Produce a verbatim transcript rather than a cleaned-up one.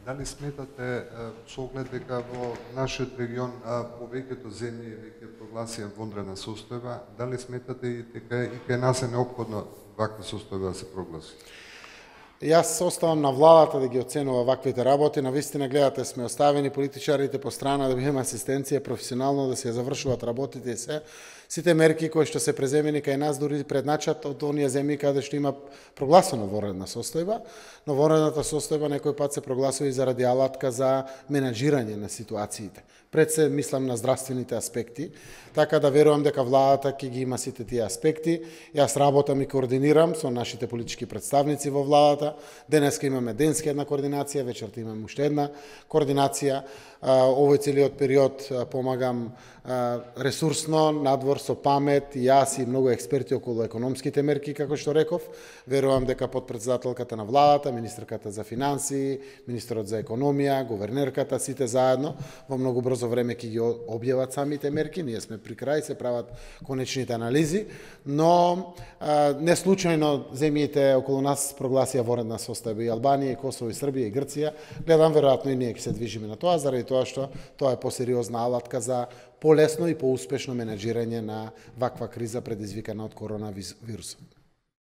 Дали сметате со оглед дека во нашиот регион повеќето земји веќе прогласија вонредна состојба, дали сметате и дека и кај нас е неопходно ваква состојба да се прогласи? Јас оставам на владата да ги оценува ваквите работи. Навистина гледате сме оставени политичарите по страна да бидеме асистенција професионално да се завршуваат работите и се. Сите мерки кои што се преземени кај нас дури предначат од оние земји каде што има прогласено вонредна состојба, но вонредната состојба некој пат се прогласува и заради алатка за менаџирање на ситуациите. Пред се мислам на здравствените аспекти, така да верувам дека владата ќе ги има сите тие аспекти. Јас работам и координирам со нашите политички представници во владата. Денеска имаме денска една координација, вечерта имаме уште една координација. Овој целиот период помагам ресурсно, надвор со памет, јас и многу експерти околу економските мерки, како што реков. Верувам дека подпредседателката на владата, министерката за финансии, министерот за економија, гувернерката, сите заедно во многу брзо време ќе ги објават самите мерки. Ние сме при крај, се прават конечните анализи, но а, не случајно земјите околу нас прогласија вонредна состојба и Албанија, и Косово, и Србија, и Грција. Гледам веројатно и ние ќе се движиме на тоа, заради тоа што тоа е посериозна алатка за полесно и поуспешно менаџирање на ваква криза предизвикана од коронавирусот.